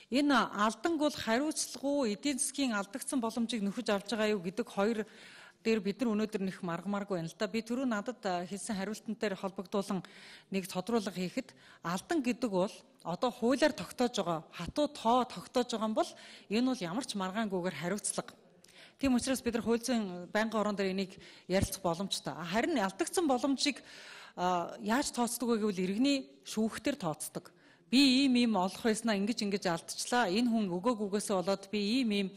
Энэ алданг бол хариуцлагагүй эдийн засгийн алдагдсан боломжийг нөхөж авч байгаа юу гэдэг хоёр дээр бид нар өнөөдөр нэг маргамааргүй байна л да. Би түрүү надад хэлсэн хариултантай холбогдуулан нэг тодруулга хийхэд алдан гэдэг бол одоо хуулиар тогтоож байгаа хатуу тоо тогтоож байгаа юм бол энэ бол ямар ч маргаангүйгээр хариуцлага. Тийм учраас бид нар хууль зүйн байнгын орон дээр энийг ярилцах боломжтой. Харин алдагдсан боломжийг яаж тооцдог вэ гэвэл иргэний шүүхтэр тооцдог. Би ийм олох байснаа ингэж алдчихлаа. Энэ хүн өгөөгүйгээсээ болоод би ийм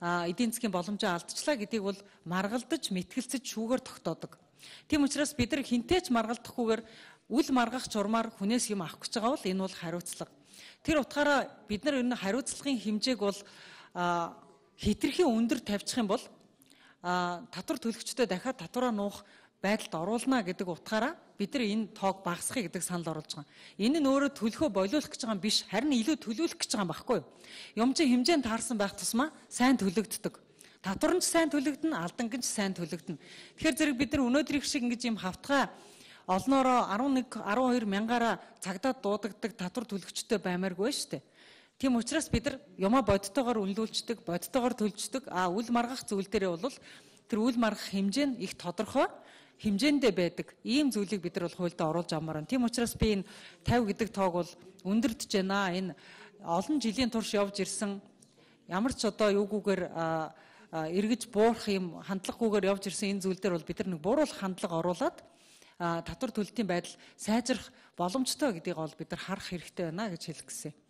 эдийн засгийн боломжоо алдчихлаа гэдгийг бол маргалдаж, мэтгэлцэж шүүгээр тогтоодог. Тийм учраас бид нар хинтээч маргалдахгүйгээр үл маргах журмаар хүнээс юм авах гэж байгаа бол энэ бол хариуцлага. Тэр утгаараа бид нар энэ хариуцлагын хэмжээг бол хэтэрхий өндөр тавьчих юм бол татвар төлөгчдөө дахиад татвараа нуух байдалд оруулна гэдэг утгаараа бид нар энэ тоог багасгахыг гэдэг санал оруулж байгаа. Энэ нь өөрөө төлөхөө болиулах гэж байгаа юм биш, харин илүү төлөвлөх гэж байгаа юм байхгүй юу? Юмчин хэмжээнд таарсан байх тусмаа сайн төлөгддөг. Татвар нь ч сайн төлөгдөнө, алданг нь ч сайн төлөгдөнө. Тэгэхээр зэрэг бид нар өнөөдрийг шиг ингэж юм хавтгай олноороо 11 12 мянгаараа цагдаад дуудагддаг татвар төлөгчтэй баймааргүй шүү дээ. Тийм учраас бид нар юмаа бодтойгоор үнэлүүлждэг, бодтойгоор төлждөг. Үл маргах зүйл дээрээ бол тэр үл маргах хэмжээ нь их тодорхой хэмжээндээ байдаг. Ийм зүйлийг бид нар бол хуульд оруулж авмаар байна. Тийм учраас би энэ 50 гэдэг тоог бол өндөрдөж байна. Энэ олон жилийн турш явж ирсэн ямар ч одоо юугүйгээр эргэж буурах юм хандлагагүйгээр явж ирсэн энэ зүйл дээр бол бид нар нэг бууруулах хандлага оруулад татвар төлөлтийн байдал сайжрах боломжтой гэдгийг бол бид нар харах хэрэгтэй байна гэж хэлэх гэсэн.